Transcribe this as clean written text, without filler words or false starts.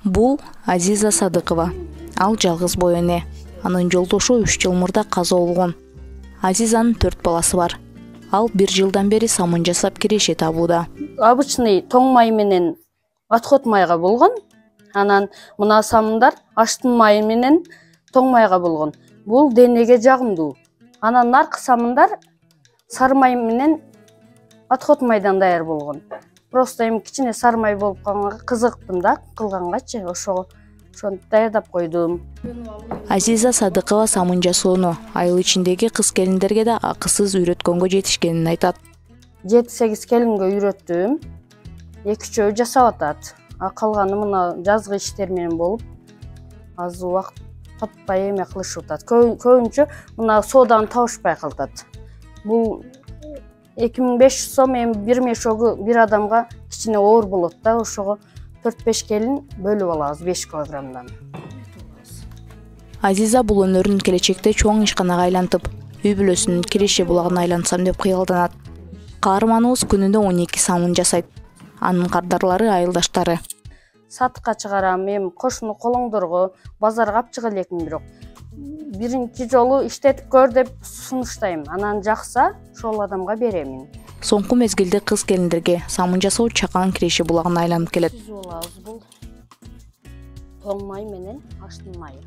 Бул Азиза Садыкова. Ал жалгыз бой эне. Анын жолдошу 3 жыл мурда каза болгон. Азизанын 4 баласы бар. Ал 1 жылдан бери самын жасап киреше табууда. Обычный тоң май менен отход майга болгон. Анан мына самындар аштын майы менен тоң майга болгон. Бул денеге жагымдуу. Анан наркы самындар сары май менен отход майдан даяр болгон. Просто эми кичине сары май болуп калганга кызыктым да кылгангачы, ошонтип даярдап койдум. Азиза Садыкова самын жасоону айыл ичиндеги кыз келиндерге да акысыз үйрөткөнгө жетишкенин айтат. 7-8 келинге үйрөттүм. 2-3 жасап атат. Калганы мына жазгы иштер менен болуп, аз убакыт таппай эме кылышып атат. Көбүнчө мына сооданы табышпай калат. Бул 2500 сом эми бир мешогу бир адамга кичине оор болот да, ошого 4-5 келин бөлүп алабыз 5 килограммдан. Азиза бул өнөрүн келечекте чоң ишканага айлантып, үй бүлөсүнүн киреше булагына айлантсам деп кыялданат. Каарманыбыз күнүнө 12 самын жасайт. Анын кардарлары айылдаштары. Сатыкка чыгарам, эми кошуну колоңдорго, базарга алып чыга элекмин, бирок биринчи жолу иштетип көр деп сунуштайм. Анан жакса, ошол адамга беремин. Соңку мезгилде кыз келиндерге самын жасоо чакан киреше булагына айланып келет. Бул тоң май менен аштын майы.